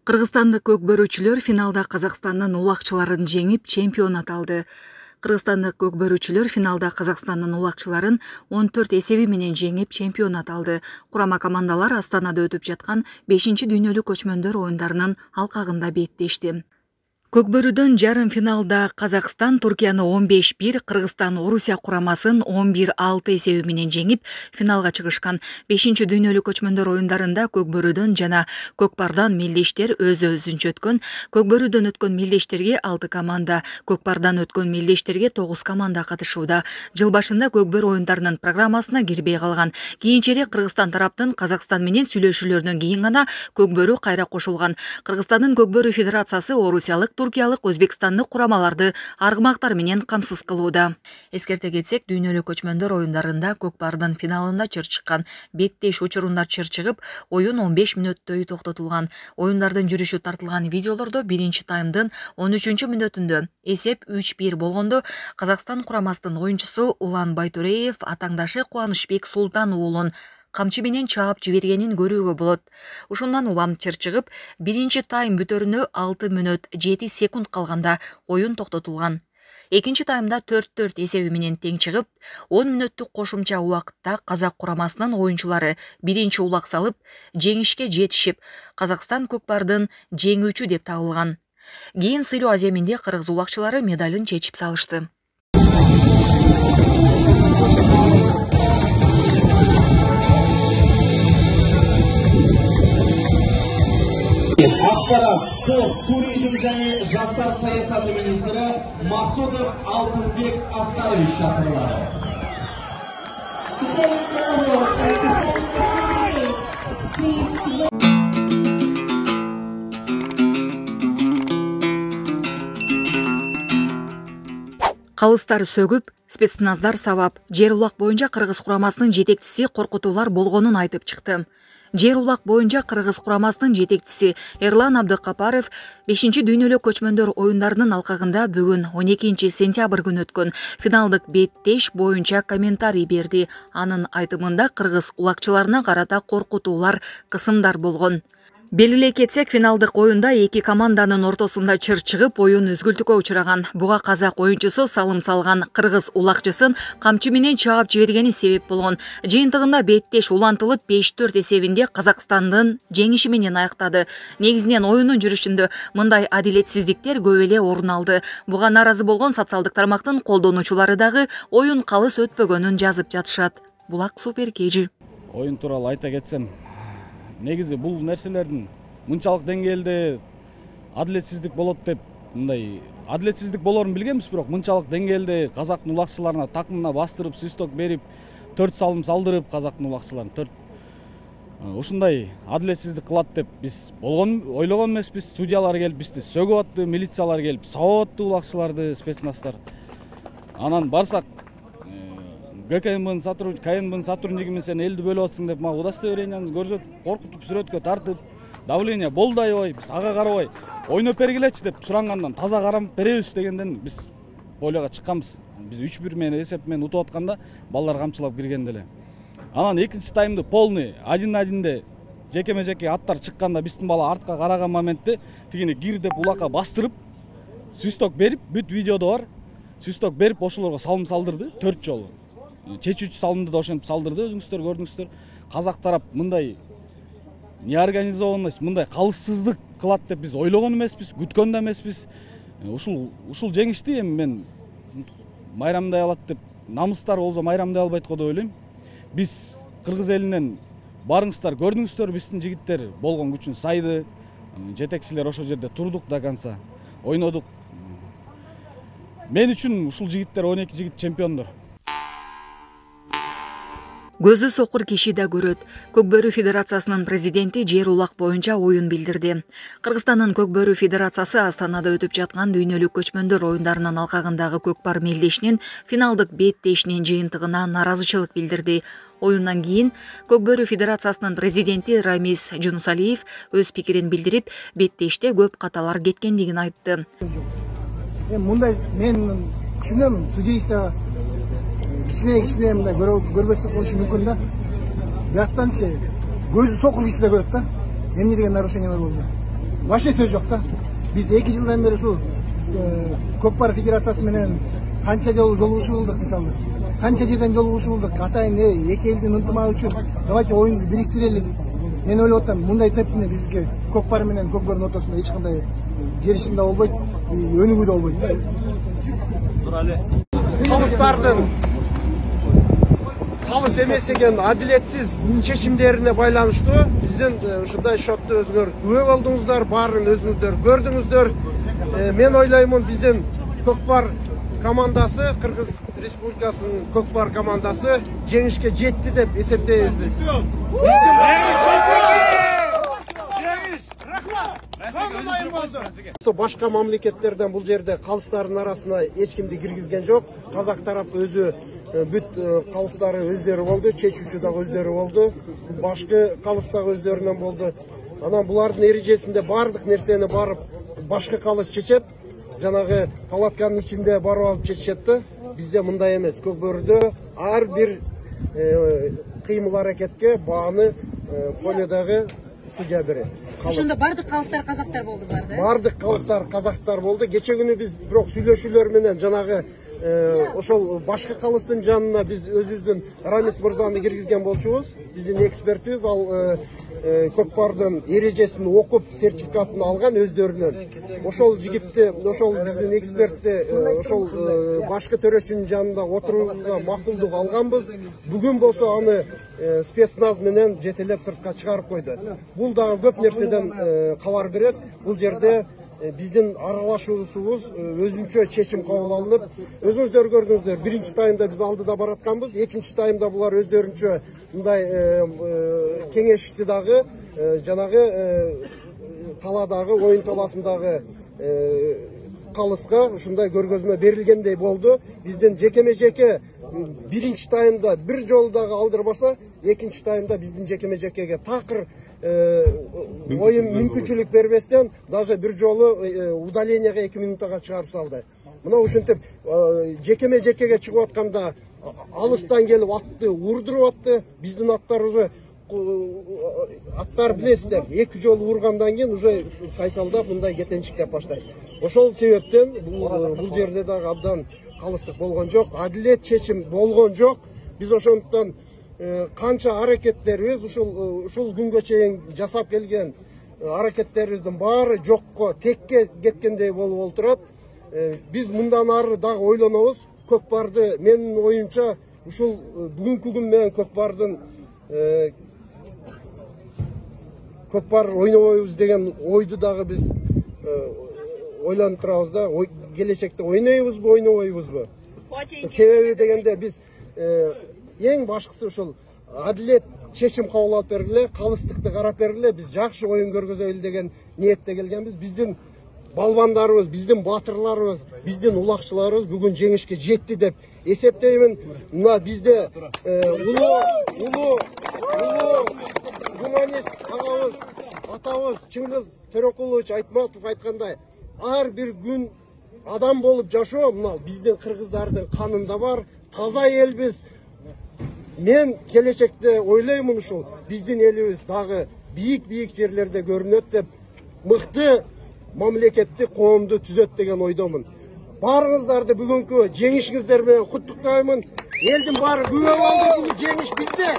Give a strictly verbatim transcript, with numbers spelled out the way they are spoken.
Кыргызстандык көкбөрүүчүлөр финалда Казакстандын улакчыларын жеңип чемпионат алды. Кыргызстандык көкбөрүүчүлөр финалда Казакстандын улакчыларын он төрт эсеби менен жеңип чемпионат алды. Курама командалар Астанада өтүп жаткан бешинчи дүйнөлүк көчмөндөр оюндарынын алкагында беттешти. Көкбөрүүдөн жарым финалда Казакстан Туркияны он беш бир, Кыргызстан Орусия курамасын он бир алты эсеби менен жеңип финалга чыгышкан. бешинчи дүйнөлүк көчмөндөр оюндарында көкбөрүүдөн жана көкпардан мелдештер өзү-өзүнчө өткөн. Көкбөрүүдөн өткөн мелдештерге алты команда, көкпардан өткөн мелдештерге тогуз команда катышууда. Жыл башында көкбөрүү оюндарынын программасына кирбей калган. Кийинчерээк Кыргызстан тараптын Казакстан менен сүйлөшүүлөрдөн кийин гана көкбөрүү кайра кошулган. Кыргызстандын көкбөрүү федерациясы орусиялык, туркиялык, өзбекстандык курамаларды аргымактар менен камсыз кылууда. Эскерте кетсек, дүйнөлүк көчмөндөр оюндарында көкпардын финалында чыр чыккан. Беттеш учурунда чыр чыгып, оюн он беш мүнөттөй токтотулган. Оюндардын жүрүшү тартылган видеолордо биринчи таймдын он үчүнчү мүнөтүндө эсеп үч бир болгондо Казакстан курамасынын оюнчусу Улан Байтуреев атаңдашы Кубанычбек Султан уулун камчы менен чаап жибергенин көрүүгө болот. Ушундан улам чыр чыгып, биринчи тайм бүтөрүнө алты мүнөт жети секунд калганда оюн токтотулган. Экинчи таймда төрт төрт эсеби менен тең чыгып, он мүнөттүк кошумча убакытта казак курамасынын оюнчулары биринчи улак салып, жеңишке жетишип, Казакстан көкпардын жеңүүчү деп табылган. Кийин сыйлоо аземинде кыргыз улакчылары медалын чечип салышты. Акпарат, спорт, туризм және жастар саясаты министри Максудов Алтынбек Аскарович шақырылады. Калыстар сөгүп, спецназдар сабап, жер улак боюнча кыргыз курамасынын жетекчиси коркутуулар болгонун айтып чыкты. Жер улак боюнча кыргыз курамасынын жетекчиси Эрлан Абдыкапаров бешинчи дүйнөлүк көчмөндөр оюндарынын алкагында бүгүн он экинчи сентябрь күнү өткөн финалдык беттеш боюнча комментарий берди. Анын айтымында кыргыз улакчыларына карата коркутуулар, кысымдар болгон. Белгилей кетсек, финалдык оюнда эки команданын ортосунда чыр чыгып, оюн үзгүлтүккө учураган. Буга казак оюнчусу салым салган кыргыз улакчысын камчы менен чаап жибергени себеп болгон. Жыйынтыгында беттеш улантылып беш төрт эсебинде Казакстандын жеңиши менен аяктады. Негизинен оюндун жүрүшүндө мындай адилетсиздиктер көп эле орун алды. Буга нааразы болгон социалдык тармактын колдонуучулары дагы оюн калыс өтпөгөнүн жазып жатышат. Булак Супер Кежи. Оюн тууралуу айта кетсем, негизи бул нерселердин мынчалык деңгээлде адилетсиздик болот деп, мындай адилетсиздик болорун билгенбиз, бирок мынчалык деңгээлде казактын улакчыларына такымына бастырып, свисток берип, төрт салым салдырып казактын улакчыларын төрт ушундай адилетсиздик кылат деп биз болгон ойлогон эмеспиз. Судьялар келип бизди сөгүп атты, милициялар келип сабап атты улакчыларды, спецназдар. Анан барсак ГКМбын сотрудник, КНБнын сотруднигимен сен элди бөлүп атсың деп мага удостоверенияны көрсөтүп, коркутуп, сүрөткө тартып, давление болду аябай, биз ага карабай ойноп бергилечи деп сурангандан таза карап беребиз дегенден биз полега чыкканбыз. Биз үч бир менен эсеп менен утуп атканда балдар камчылап киргенде эле. Анан экинчи таймды полный один на одинде жекеме жеке аттар чыкканда биздин бала артка караган моментте тигини кир деп улакка бастырып, свисток берип, бүт видеодо бар. Свисток берип ошолорго салым салдырды төрт жолу. Чечүүчү салымды да ошентип салдырды, өзүңүздөр көрдүңүздөр. Казак тарап мындай неорганизованность, мындай калыссыздык кылат деп биз ойлогон эмеспиз, күткөн да эмеспиз. Ушул ушул жеңишти эми мен майрамдай алат деп, намыстар болсо майрамдай албайт го деп ойлойм. Биз кыргыз элинен барыңыздар, көрдүңүздөр, биздин жигиттер болгон күчүн сайды, жетекчилер ошол жерде турдук до конца, ойнодук. Мен үчүн ушул жигиттер он эки жигит чемпиондор. Көзү сокур киши да көрөт. Көкбөрүү федерациясынын президенти жер улак боюнча оюн билдирди. Кыргызстандын Көкбөрүү федерациясы Астанада өтүп жаткан дүйнөлүк көчмөндөр оюндарынын алкагындагы көкпар мелдешинин финалдык беттешинин жыйынтыгына нааразычылык билдирди. Оюндан кийин Көкбөрүү федерациясынын президенти Рамис Жунусалиев өз пикирин билдирип, беттеште көп каталар кеткендигин айтты. Мындай мен түшүнөм, судейство кичине кичине мындай көрбөстүк болушу мүмкүн да. Бияктанчы көзү сокур киши да көрөт да. Эмне деген нарушениялар болду? вообще сөз жок да. Биз эки жылдан бери ушул Көкпар федерациясы менен канча жолу жолугушуу кылдык, мисалы. Канча жерден жолугушуу кылдык. Атайын эки элдин ынтымагы үчүн давайте оюнду бириктирели. Мен ойлоп атам, мындай темпте бизге Көкпар менен Көкбөрдүн ортосунда эч кандай келишим да болбойт, өнүгүү да болбойт. Калыстардын калыс эмес деген адилетсиз чечимдерине байланыштуу биздин ушундай шотту күбө болдуңуздар, баарын өзүңүздөр көрдүңүздөр. Мен ойлоймун, биздин Көкпар командасы, Кыргыз Республикасынын Көкпар командасы жеңишке жетти деп эсептейбиз. Башка мамлекеттерден бул жерде калыстардын арасына эч кимди киргизген жок. Казак тарап өзү бүт калыстары өздөрү болду, чечүүчү дагы өздөрү болду, башкы калыс дагы өздөрүнөн болду. Анан булардын эрежесинде бардык нерсени барып башкы калыс чечет, жанагы палатканын ичинде барып алып чечет да. Бизде мындай эмес. Көкбөрдө ар бир кыймыл аракетке бааны поледагы судья берет. Ошондо бардык калыстар казактар болду бар да? Бардык калыстар казактар болду. Кече күнү биз бирок сүйлөшүүлөр менен жанагы ошол башкы калыстын жанына биз өзүбүздүн Рамис мырзаны киргизген болчубуз. Биздин экспертибиз ал Көкпардын эрежесин окуп, сертификатын алган өздөрүнөн. Ошол жигитти, ошол биздин экспертти ошол башкы төрөчүнүн жанында отурууга макулдук алганбыз. Бүгүн болсо аны спецназ менен жетелеп сыртка чыгарып койду. Бул дагы көп нерседен кабар берет. Бул жерде биздин аралашуусубуз өзүнчө чечим кабыл алынып, өзүңүздөр көрдүңүздөр, биринчи таймда биз алдыда баратканбыз, экинчи таймда булар өздөрүнчө мындай кеңешти дагы, жанагы таладагы, оюн таласындагы калыска ушундай көргөзмө берилгендей болду. Биздин жекеме-жеке биринчи таймда бир жолу дагы алдырбаса, экинчи таймда биздин жекеме-жекеге такыр оюн мүмкүнчүлүк бербестен даже бир жолу удалениеге эки минутага чыгарып салды. Мына ушинтип жекеме-жекеге чыгып атканда алыстан келип атты урдуруп атты. Биздин аттар уже аттар билесиздер, эки жолу ургандан кийин уже кайсалдап мындай кетенчиктеп баштайт. Ошол себептен бул жерде дагы абдан калыстык болгон жок, адилет чечим болгон жок. Биз ошондуктан канча аракеттерибиз ушул ушул күнгө чейин жасап келген аракеттерибиздин баары жокко, текке кеткендей болуп отурат. Биз мындан ары дагы ойлонобуз. Көкпарды менин оюмча ушул бүгүнкү күн менен Көкпардын Көкпар ойнобойбуз деген ойду дагы биз ойлонуп турабыз да. Келечекте ойнойбузбу, ойнобойбузбу? Себеби дегенде биз эң башкысы ушул адилет чечим кабыл алып бергиле, калыстыкты карап бергиле, биз жакшы оюн көргөзөлү деген ниетте келгенбиз. Биздин балбандарыбыз, биздин батырларыбыз, биздин улакчыларыбыз бүгүн жеңишке жетти деп эсептеймин. Мына бизде улуу улуу улуу журналист агабыз, атабыз Чыңгыз Төрөкулович Айтматов айткандай, ар бир күн адам болуп жашоо мына биздин кыргыздардын канында бар, таза элбиз. Мен келечекте ойлоймун ушул биздин элибиз дагы бийик-бийик жерлерде көрүнөт деп, мыкты мамлекетти, коомду түзөт деген ойдомун. Баарыңыздарды бүгүнкү жеңишиңиздер менен куттуктаймын. Элдин баары күбө болду, бул жеңиш бизде.